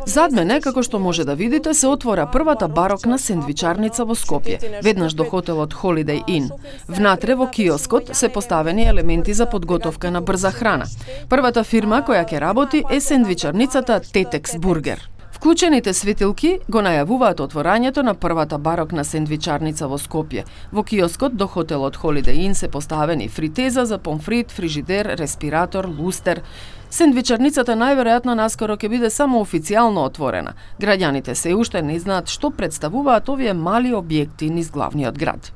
Зад мене, како што може да видите, се отвора првата барокна сендвичарница во Скопје, веднаш до хотелот Holiday Inn. Внатре во киоскот се поставени елементи за подготовка на брза храна. Првата фирма која ќе работи е сендвичарницата Tetex Burger. Вклучените светилки го најавуваат отворањето на првата барокна сендвичарница во Скопје. Во киоскот до хотелот Holiday Inn се поставени фритеза за помфрит, фрижидер, респиратор, лустер. Сендвичарницата најверојатно наскоро ќе биде само официјално отворена. Граѓаните се уште не знаат што представуваат овие мали објекти низ главниот град.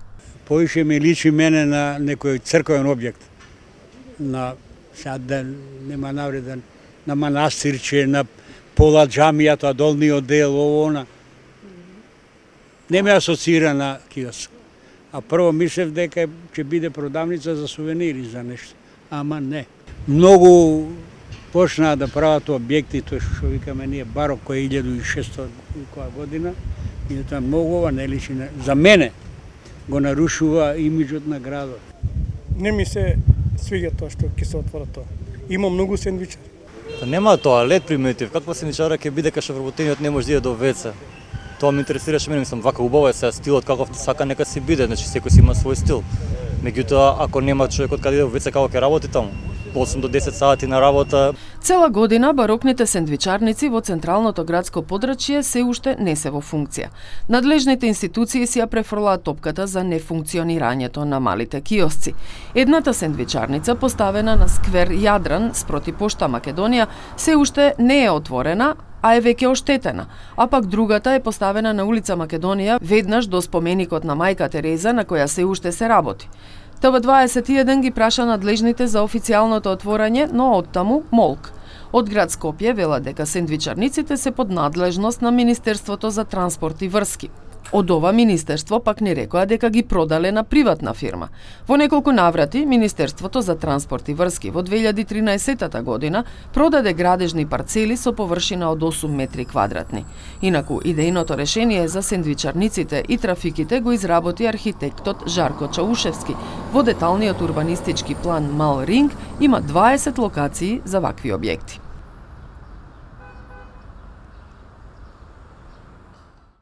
Поише ми личи мене на некој црковен објект. На нема навреден, на манастирче, на пола џамијата, долниот дел, она. Не ме асоцира на киоск. А прво мислев дека ќе биде продавница за сувенири, за нешто. Ама не. Многу почнаа да прават објекти, тоа што викаме ние барок, кој е 1600 година. И тоа многу ова не личи. За мене го нарушува имиджот на градот. Не ми се свиѓа тоа што ќе се отвора тоа. Има многу сендвичари. Нема тоалет примитив, каква сендвичара ќе биде кај што вработениот не може да иде до ВЦ. Тоа ме интересираше мене, мислам, вака убаво е сега стилот каков сака нека си биде, значи секој си има свој стил. Меѓутоа, ако нема човекот каде иде во ВЦ, како ќе работи таму? 8 до 10 сати на работа. Цела година барокните сендвичарници во централното градско подрачје се уште не се во функција. Надлежните институции си ја префрлаат топката за нефункционирањето на малите киосци. Едната сендвичарница, поставена на сквер Јадран спроти пошта Македонија, се уште не е отворена, а е веќе оштетена, а пак другата е поставена на улица Македонија, веднаш до споменикот на мајка Тереза, на која се уште се работи. ТВ21 ги праша надлежните за официјалното отворање, но оттаму молк. Од град Скопје велат дека сендвичарниците се под надлежност на Министерството за транспорт и врски. Од ова министерство пак не рекоа дека ги продале на приватна фирма. Во неколку наврати Министерството за транспорт и врски во 2013 година продаде градежни парцели со површина од 8 метри квадратни. Инаку идејното решение за сендвичарниците и трафиките го изработи архитектот Жарко Чаушевски. Во деталниот урбанистички план Мал Ринг има 20 локации за вакви објекти.